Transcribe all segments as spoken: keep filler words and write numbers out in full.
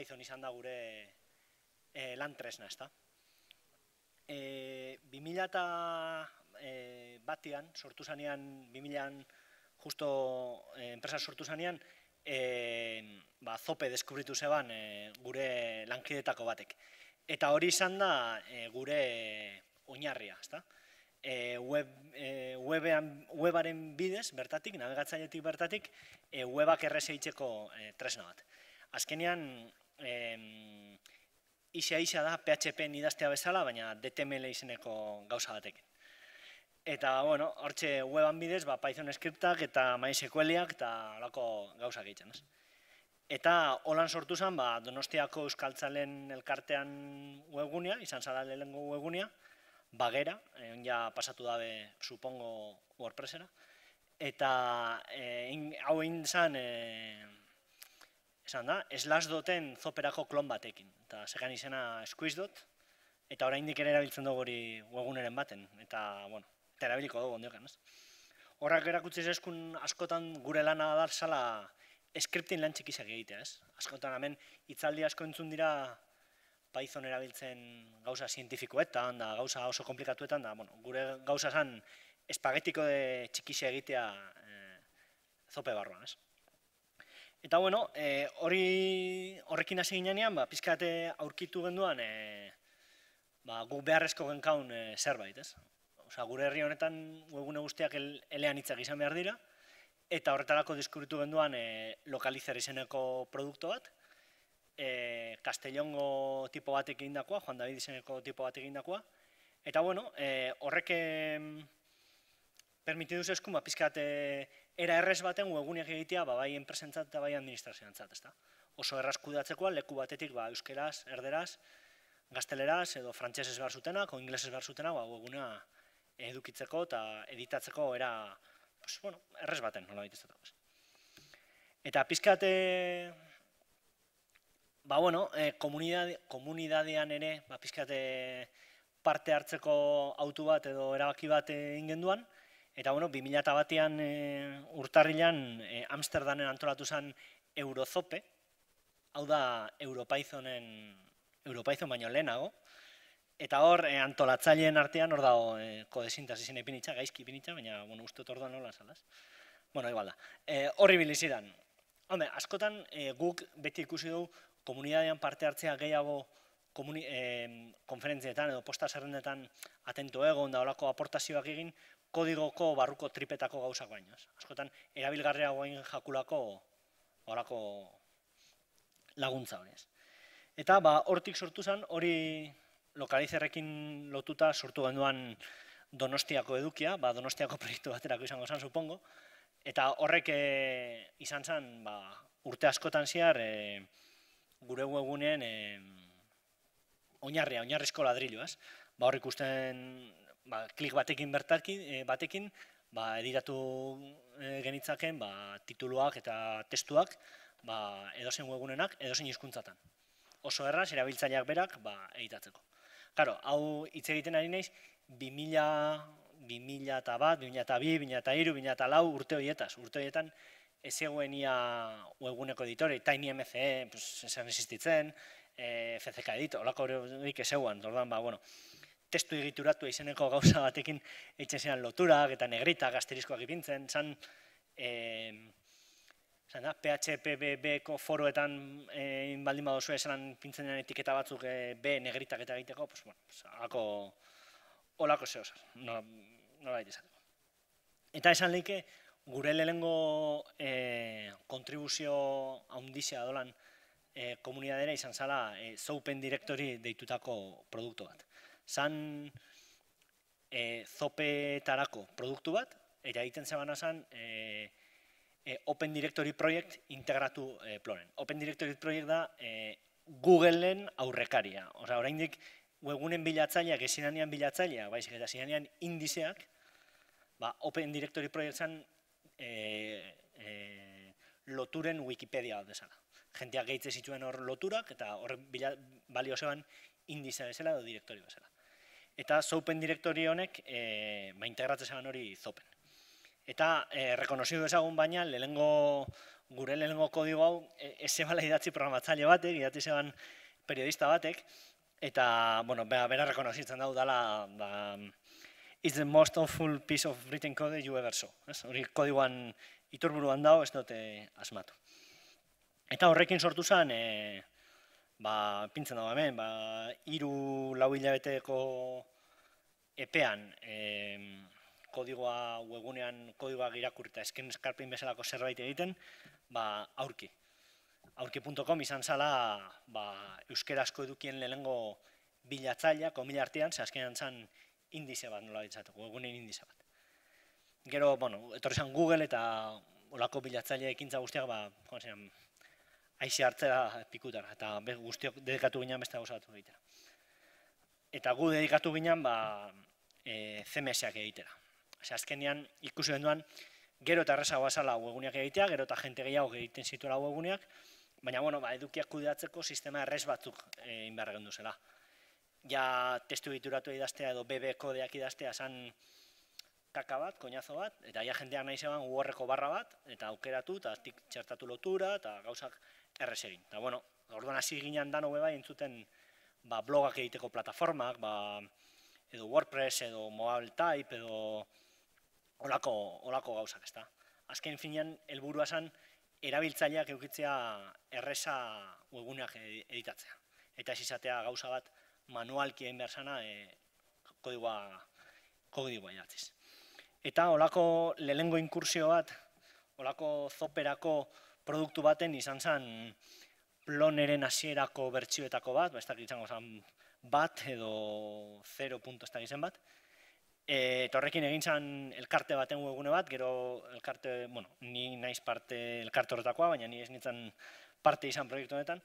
Python izan da gure lan tresna, ezta. bi mila batean, sortu zanean, bi milaan justo enpresa sortu zanean, Zope deskubritu zeban gure lankidetako batek. Eta hori izan da gure oinarria, ezta. Webaren bidez, bertatik, nabigatzailetik bertatik, webak errez eitzeko tresna bat. Azkenean, isa-isa da P H P idaztea bezala, baina D T M L izeneko gauza batekin. Eta, bueno, hortxe weban bidez, Python skriptak eta MySQLiak eta holako gauzak egiten. Eta holan sortu zen, Donostiako Euskaltzalen elkartean webgunea, izan zara lehenengo webgunea, bagera, ja pasatu dabe, supongo, WordPressera, eta hau egin zen, esan da, Slashdot-en Zoperako klon batekin, eta zegan izena Squishdot, eta oraindik ere erabiltzen dugu hori webguneren baten, eta, bueno, eta erabiliko dugu ondiokan, ez? Horrak erakutsi zezkun askotan gure lana da zala scripting lan txikizak egitea, ez? Askotan hemen hitzaldi asko entzun dira Python erabiltzen gauza zientifikoetan, da gauza oso komplikatuetan, da, bueno, gure gauza zan espagetiko de txikizia egitea Zope barruan, ez? Eta, bueno, horrekin hasi ginean, pizkate aurkitu genduan guk beharrezko genkaun zerbait, ez? Osa, gure herri honetan webgune guztiak elean hitzak izan behar dira, eta horretarako deskubritu genduan Localizer izeneko produktu bat, Castellongo tipo batek egindakoa, Juan David izeneko tipo batek egindakoa, eta, bueno, horrek permitidu zezkun, pizkat era errez baten webguneak egitea bai enpresentzat eta bai administrazioantzat, ezta? Oso erraz kudeatzekoa, leku batetik euskeraz, erderaz, gazteleraz edo frantsesez behar zutenak, o inglesez behar zutenak, webgunea edukitzeko eta editatzeko era errez baten, nola baitizatako. Eta pizkat, ba, bueno, komunidadean ere, pizkat parte hartzeko autu bat edo erabaki bat egin genduan, eta, bueno, bi mila batean urtarrilan Amsterdamen antolatu zen Eurozope, hau da Europythonen, Europython baino lehenago, eta hor antolatzaileen artean hor dago kodesintaz izin ipinitza, gaizki ipinitza, baina uste dut orduan nola salaz. Bueno, igual da. Horri bilizidan. Hombre, askotan guk beti ikusi dugu komunidadean parte hartzea gehiago konferentzietan edo posta zerrendetan atento egon da horako aportazioak egin kodigoko barruko tripetako gauzak baino. Askotan erabilgarriago egin jakulako horako laguntza hori. Eta hortik sortu zen hori Localizerrekin lotuta sortu genduan Donostiako edukia, Donostiako proiektu baterako izango zen, supongo, eta horrek izan zen urte askotan zehar gure webguneen oinarria, oinarrizko ladrilloaz. Hor ikusten klik batekin batekin editatu genitzaken tituluak eta testuak edozein webgunenak, edozein hizkuntzatan. Oso erraz, erabiltzaileak berak editatzeko. Karo, hau hitz egiten ari naiz, bi mila bat, bi mila bi, bi mila hiru, bi mila lau urte horietaz. Urte horietan ez zegoen ia webguneko editore, TinyMCE, esan existitzen, F C K edit, holako horiek ez zegoen, testu egituratu izeneko gauza batekin eitzen ziren loturak eta negritak, asteriskoak ipintzen, zan P H P B-ko foroetan baldin badozu esan pintzen den etiketa batzuk B negritak eta egiteko, holako zehozaz, nola baita izateko. Eta esan lehike, gure lehenengo kontribuzio handizia dolan komunidadera izan zala Zopen Directory deitutako produktu bat. Zan Zopetarako produktu bat, eta egiten zebana zan Open Directory Project integratu plonen. Open Directory Project da Googleen aurrekaria. Osa, oraindik webgunen bilatzaileak, ezinanean bilatzailea, baizik eta ezinanean indizeak, Open Directory Project zan loturen Wikipedia bat bezala. Jenteak gehitze zituen hor loturak, eta hor balio zeban indizea bezala edo direktori bezala. Eta Zopen Directory honek integratzen zeban hori Zopen. Eta e, rekonozidu ezagun baina, lehengo, gure lehengo kodigo hau, ez zebala idatzi programatzaile batek, idatzi zeban periodista batek, eta, bueno, bera, bera rekonozitzen dau dala, da, it's the most awful piece of written code you ever saw. Hori kodigoan iturburuan dago, ez dute asmatu. Eta horrekin sortu zen, e, ba, pintzen dago hemen, ba, hiru lau hilabeteko epean, e, kodigoa webunean kodigoa irakurrita esken eskarpin bezalako zerbait egiten, ba, aurki. aurki punto com izan zala ba, euskerazko edukien lehenengo bilatzailea, komila artean, ze azkenean zan indize bat nola ditzateko, webunen indize bat. Gero, bueno, etorri zan Google eta olako bilatzaile ekintza guztiak, ba, joan ziren, aize hartzera pikutara, eta guztiok dedikatu ginen beste gauza batu egitera. Eta gu dedikatu ginen, ba, e, C M S-ak egitera. Ose, azkenean ikusi genduan, gero eta errazagoa zala webguneak egitea, gero eta jente gehiago egiten zituela webguneak, baina, bueno, ba, edukiak kudeatzeko sistema errez batzuk egin behar gendu zela. Ja testu edituratu idaztea edo B B kodeak idaztea zan kaka bat, koñazo bat, eta ja jendeak nahi zeban U R-ko barra bat, eta aukeratu, eta tik txertatu lotura, eta gauzak errez egin. Eta, bueno, orduan hasi ginen dano bai entzuten ba, blogak egiteko plataformak, ba, edo WordPress, edo Mobile Type, edo olako, olako gauzak, ezta. Azken finean, helburua zen, erabiltzaileak eukitzea erreza webguneak editatzea. Eta ez izatea gauza bat manualki egin behar zana e, kodigoa, kodigoa idatziz. Eta olako lehengo inkursio bat, olako zoperako produktu baten izan zen Ploneren hasierako bertsioetako bat, ba, ez dakit izango zen bat edo zero punto ez dakit zen bat, eta horrekin egin zen elkarte baten webgune bat, gero elkarte, bueno, ni naiz parte elkarte horretakoa, baina ni ez nintzen parte izan proiektu honetan,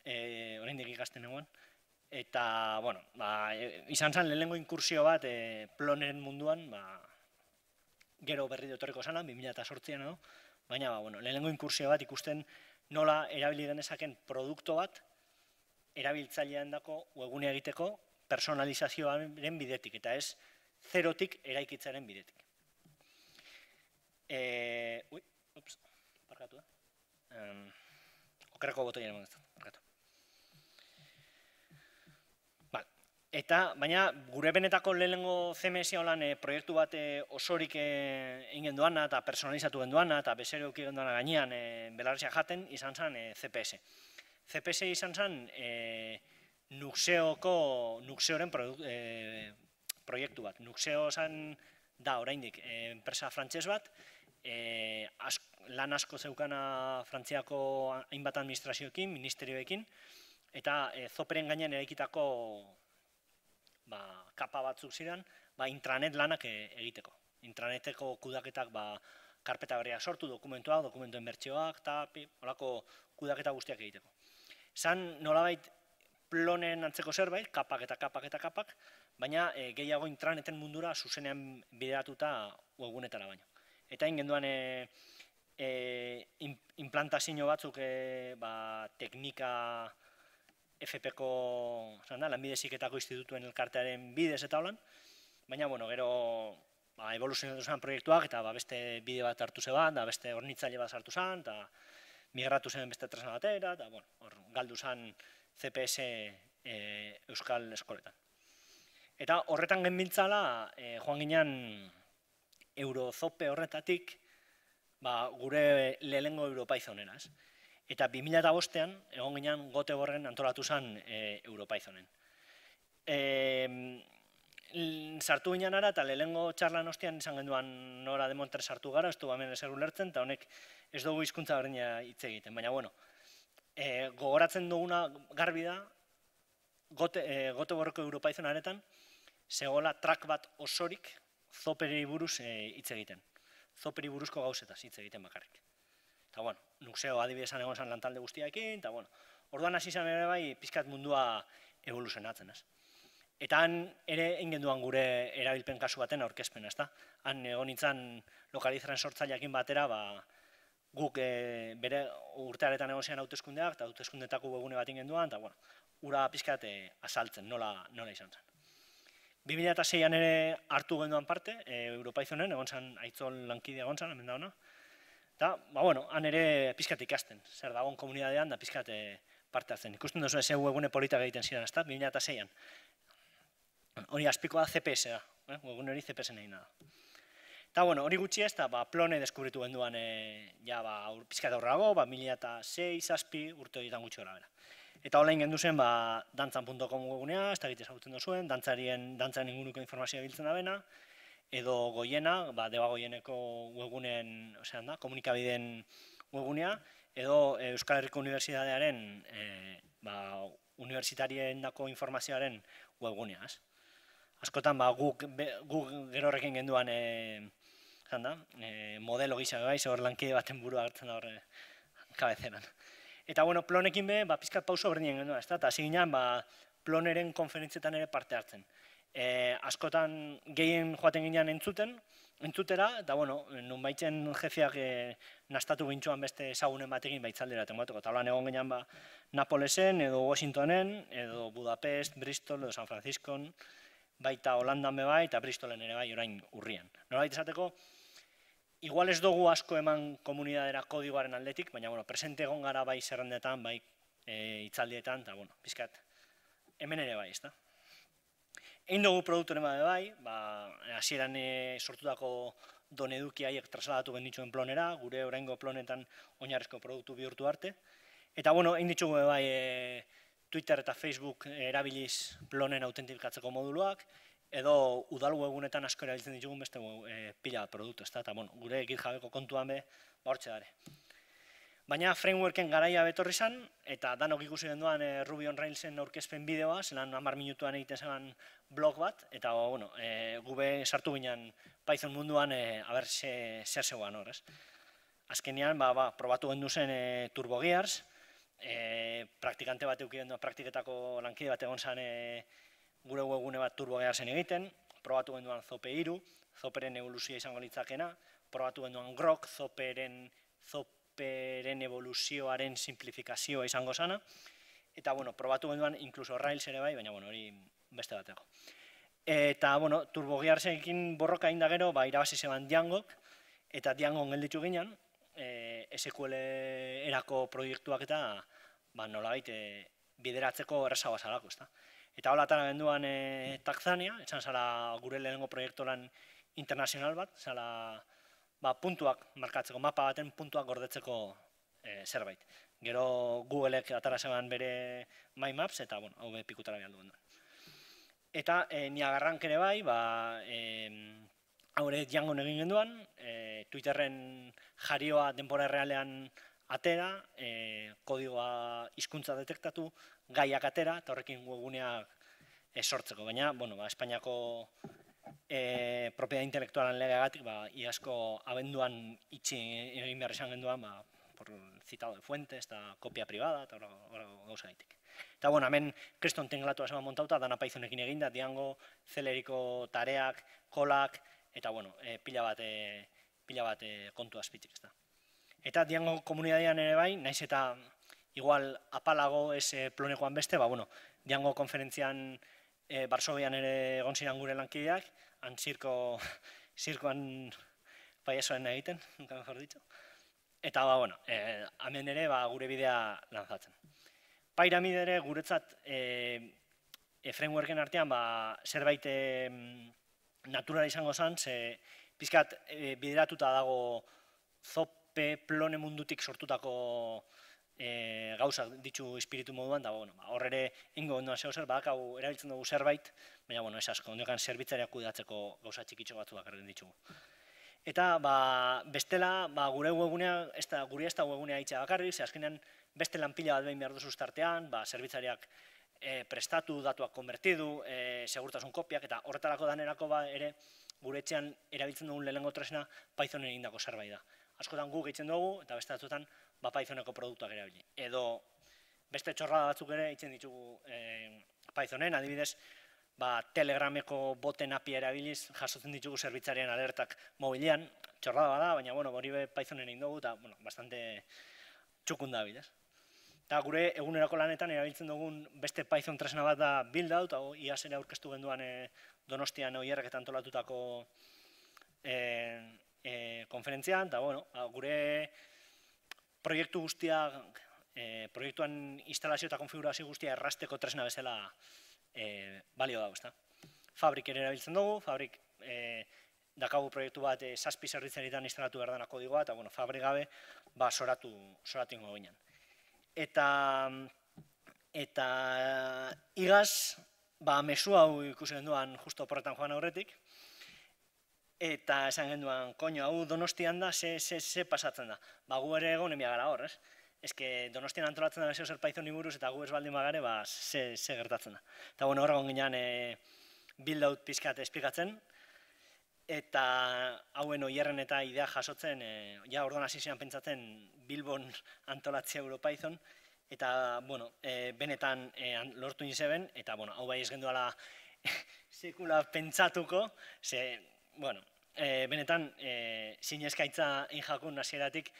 e, oraindik ikasten egon. Eta, bueno, ba, izan zen lehenengo inkursio bat e, Ploneren munduan, ba, gero berri etorriko zana, bi mila zortzian edo, baina, ba, bueno, lehenengo inkursio bat ikusten nola erabili genezaken produktu bat erabiltzailean dako webgunea egiteko personalizazioaren bidetik, eta ez zerotik eraikitzaren bidetik. E, ui, ups, parkatu da. Um, okerreko botoia ere modestu, parkatu. Vale. Eta, baina, gure benetako lehenengo C M S holan e, proiektu bat e, osorik egin genduana eta personalizatu genduana eta bezero euki genduana gainean e, belarrizia jaten izan zen e, C P S. C P S izan zen e, Nuxeoko, Nuxeoren e, proiektu bat. Nuxeo zen da oraindik e, enpresa frantses bat, e, as, lan asko zeukana Frantziako hainbat administrazioekin, ministerioekin, eta e, zoperen gainean eraikitako ba, kapa batzuk ziren, ba, intranet lanak e, egiteko. Intraneteko kudaketak ba, karpeta berriak sortu, dokumentuak, dokumentuen bertsioak, eta holako kudaketa guztiak egiteko. Zan nolabait Plonen antzeko zerbait, kapak eta kapak eta kapak, baina e, gehiago intraneten mundura zuzenean bideratuta webgunetara baino. Eta egin genduan e, e, implantazio batzuk e, ba, teknika F P-ko lanbide heziketako institutuen elkartearen bidez eta holan, baina bueno, gero ba, evoluzionatu zen proiektuak eta ba, beste bide bat hartu zeban, da beste hornitzaile bat hartu zen, eta migratu zen beste tresna batera, eta bueno, hor, galdu zen C P S e, Euskal Eskoletan. Eta horretan genbiltzala, e, joan ginen Eurozope horretatik ba, gure lehenengo EuroPythonera. Eta bi mila bostean, egon ginen Göteborgen antolatu zen e, EuroPythonen. E, sartu ginen ara, eta lehenengo txarlan ostean izan genduan nora demontre sartu gara, ez du hemen ezer ulertzen, eta honek ez dugu hizkuntza berdina hitz egiten. Baina, bueno, e, gogoratzen duguna garbi da, Göteborgeko EuroPythonaretan, zegoela track bat osorik zoperi buruz hitz egiten. Zoperi buruzko gauzetaz hitz egiten bakarrik. Eta, bueno, Nuxeo adibidezan egon zen lantalde guztiakin, eta, bueno, orduan hasi zen ere bai pizkat mundua evoluzionatzen, ez. Eta han ere egin duan gure erabilpen kasu baten aurkezpena, ezta. Han egon nintzen lokalizaren sortzaileakin batera, ba, guk e, bere urtearetan egon zian hauteskundeak, eta hauteskundetako webgune bat ingen duan, eta, bueno, ura pizkat e, azaltzen, nola, nola izan zen. bi mila seian ere hartu genduan parte, Europaizonen, egon zen Aitzol lankidea egon zen, hemen da hona. Eta, ba, bueno, han ere pizkat ikasten, zer dagoen komunidadean da pizkat parte hartzen. Ikusten duzu ez webgune politak egiten ziren, ezta, bi mila seian. Hori azpikoa C P S da, webgune hori C P S nahi da. Eta, bueno, hori gutxi ez, eta Plone deskubritu genduan ja pizkat aurrago, mila sei, zazpi, urte horietan gutxi gara bera. Eta hola ingendu zen dantzan puntu com webgunea, ez da egite ezagutzen duzuen, dantzaren inguruko informazioa biltzen da bena, edo Goiena, Deba Goieneko webguneen, osean da, komunikabideen webgunea, edo Euskal Herriko Unibertsitatearen, universitarien dako informazioaren webgunea, ez? Askotan, guk gero horrekin genduan, modelo gisa bai, hor lankide baten burua hartzen da horre kabezeran. Eta, bueno, Plonekin be, pizkat pauso berdinen genduan, ez da, eta hasi ginen, Ploneren konferentzietan ere parte hartzen. Askotan gehien joaten ginean entzuten, entzutera, eta, bueno, nun baitzen jefiak nastatu gintxuan beste ezagunen batekin baitzaldera tengoatuko. Eta holan egon ginean Napolesen, edo Washingtonen, edo Budapest, Bristol, edo San Franciscon, baita Holandan be bai, eta Bristolen ere bai orain urrian. Norbait esateko, igual ez dugu asko eman komunidadera kodigoaren aldetik, baina, bueno, presente egon gara bai zerrendetan, bai hitzaldietan, eta, bueno, pizkat, hemen ere bai, ez da. Egin dugu produktoren bade bai, hasieran sortutako don eduki haiek trasladatu gendituen Plonera, gure oraingo Plonetan oinarrizko produktu bihurtu arte. Eta, bueno, egin ditugu bai Twitter eta Facebook erabiliz Plonen autentifikatzeko moduluak, edo udal webgunetan asko erabiltzen ditugun beste pila produktu, ez da, eta, bueno, gure GitHubeko kontuan be, hortxe dare. Baina frameworken garaia betorri zen, eta danok ikusi genduan Ruby on Railsen aurkezpen bideoa, zelan hamar minutuan egiten zen blog bat, eta, bueno, gube sartu ginen Python munduan, haber, zer zegoan hor, ez? Azkenean, probatu gendu zen TurboGears, praktikante bat euki genduan, praktiketako lankide bat egon zen gure webgune bat TurboGearsen egiten, probatu genduan Zope hiru, Zoperen evoluzioa izango litzakena, probatu genduan Grok, Zoperen Zoperen evoluzioaren simplifikazioa izango zana, eta, bueno, probatu genduan inkluso Rails ere bai, baina, bueno, hori beste bateko. Eta, bueno, TurboGearsekin borroka inda gero, irabazi zeban Djangok, eta Djangon gelditu ginen, S Q L erako proiektuak eta nolabait bideratzeko errazagoa zalako, ezta. Eta hola atara genduan Taxania, etxan zala gure lehenengo proiektoran internazional bat, zala puntuak markatzeko, mapa baten puntuak gordetzeko zerbait. Gero Googleek atara zeban bere MyMaps, eta, bueno, hau be pikutara behar duen. Eta Niagarrank ere bai, haure Djangon egin genduan, Twitterren jarioa denbora errealean atera, kodigoa hizkuntza detektatu, gaiak atera, eta horrekin webguneak sortzeko. Baina, bueno, Espainiako propiedad intelektualan legeagatik, iazko abenduan itxi egin behar izan genduan, por citado de fuentes, eta kopia privada, eta hori gauza gaitik. Eta, bueno, hemen kriston tenglatu zeman montauta, dana Pythonekin eginda, Django, Celeriko tareak, kolak, eta, bueno, pila bat kontu azpitik, ez da. Eta Django komunidadean ere bai, naiz eta igual apalago ez Plonekoan beste, ba, bueno, Django konferentzian Barsobian ere egon ziren gure lankideak, han zirkoan payasoen egiten, nunca mejor dicho. Eta, ba, bueno, hemen ere gure bidea lanzatzen. Pyramid ere guretzat frameworken artean zerbait natural izango zen, ze pizkat bideratuta dago Zope Plone mundutik sortutako gauzak ditu espiritu moduan, da hor ere ingo ondoan zeo zer, badakau erabiltzen dugu zerbait, baina ez asko, ondokan zerbitzariak kudeatzeko gauza txikitxo batzuak erren ditugu. Eta bestela gure webgunea, gure ez da webgunea itxea bakarrik, ze azkenean beste lanpila bat behin behar duzu startean, zerbitzariak prestatu, datuak konbertidu, segurtasun kopiak, eta horretarako danerako ere gure etxean erabiltzen dugun lehenengo tresna Pythonen egindako zerbait da. Askotan guk egiten dugu, eta beste batzuetan Pythoneko produktuak erabili. Edo beste txorrada batzuk ere egiten ditugu Pythonen, adibidez, Telegrameko boten api erabiliz jasotzen ditugu zerbitzarien alertak mobilean, txorrada bada, baina hori Pythonen egin dugu, eta bastante txukun da bidez. Eta gure egunerako lanetan erabiltzen dugun beste Python tresna bat da build-out, hau iaz ere aurkeztu genduan Donostian Oierrek eta antolatutako konferentzian, eta bueno, gure proiektu guztiak, proiektuan instalazio eta konfigurazio guztia errasteko tresna bezala balio dago, ezta. Fabrik ere erabiltzen dugu, Fabrik dakagu proiektu bat zazpi zerbitzaritan instalatu behar dena kodigoa, eta bueno, Fabrik gabe soratu ingo ginen. Eta, eta igaz, ba, mesu hau ikusi genduan justo oporretan joan aurretik, eta esan genduan, koño, hau Donostian da, ze, ze, ze pasatzen da. Ba, gu ere egon emia gara hor, ez? Ez que Donostian antolatzen da bezeo zer Pythoni buruz, eta gu ez baldin bagare, ba, ze, ze gertatzen da. Eta, bueno, horregon ginean e, build-out pizkat esplikatzen, eta hauen Oierren eta idea jasotzen, e, ja orduan hasi ziren pentsatzen Bilbon antolatzea EuroPython, eta, bueno, e, benetan e, lortu nizeben, eta, bueno, hau bai ez genduala sekula pentsatuko, ze, bueno, e, benetan e, zinezkaitza injakun hasieratik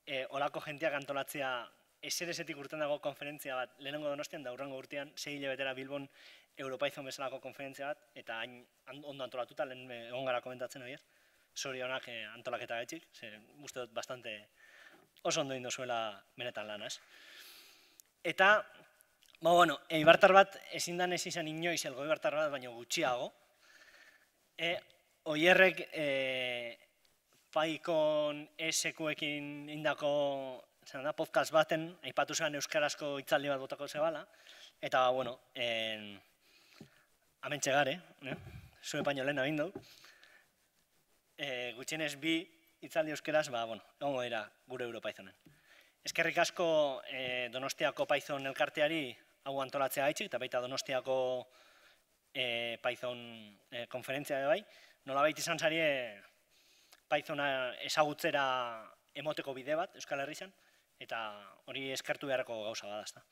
e, olako jenteak antolatzea eser-esetik urten dago konferentzia bat, lehenengo Donostian da urrengo urtean, sei hilabetera Bilbon EuroPython bezalako konferentzia bat, eta hain ondo antolatuta, lehen egon gara komentatzen horiek, zorionak e, antolaketa gaitxik, ze uste dut bastante oso ondo indozuela benetan lan, ez? Eta, ba, bueno, eibartar bat ezin dan ez izan inoiz elgo eibartar bat, baina gutxiago. E, Oierrek e, Python esekuekin indako da, podcast baten, aipatu zean euskarazko hitzaldi bat botako zebala, eta, bueno, en, amentxe gare, eh? Zue paino lehen abindu, e, gutxienez bi hitzaldi euskaraz, ba, bueno, egongo dira gure EuroPythonen. Eskerrik asko e, Donostiako Python elkarteari hau antolatzea gaitxik, eta baita Donostiako e, Python e, konferentzia bai, nolabait izan zarie Pythona ezagutzera emoteko bide bat Euskal Herrian, eta hori eskertu beharreko gauza bada, ezta.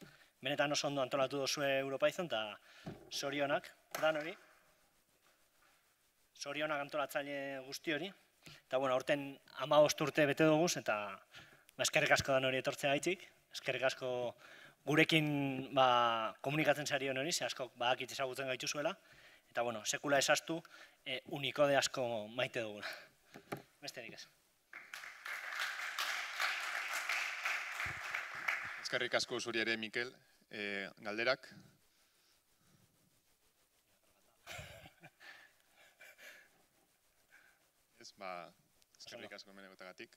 Benetan oso ondo antolatu duzue EuroPython, eta zorionak, dan hori, zorionak antolatzaile guzti hori, eta bueno, aurten hamabost urte bete duguz, eta eskerrik asko dan hori etortzea gaitxik, eskerrik asko gurekin ba, komunikatzen zarion hori, ze asko badakit ezagutzen gaitu zuela, eta bueno, sekula esaztu, e, unikode asko maite duguna. Besterik ez. Eskerrik asko zuri ere, Mikel, e, galderak. Ez, ba, eskerrik asko menegotagatik.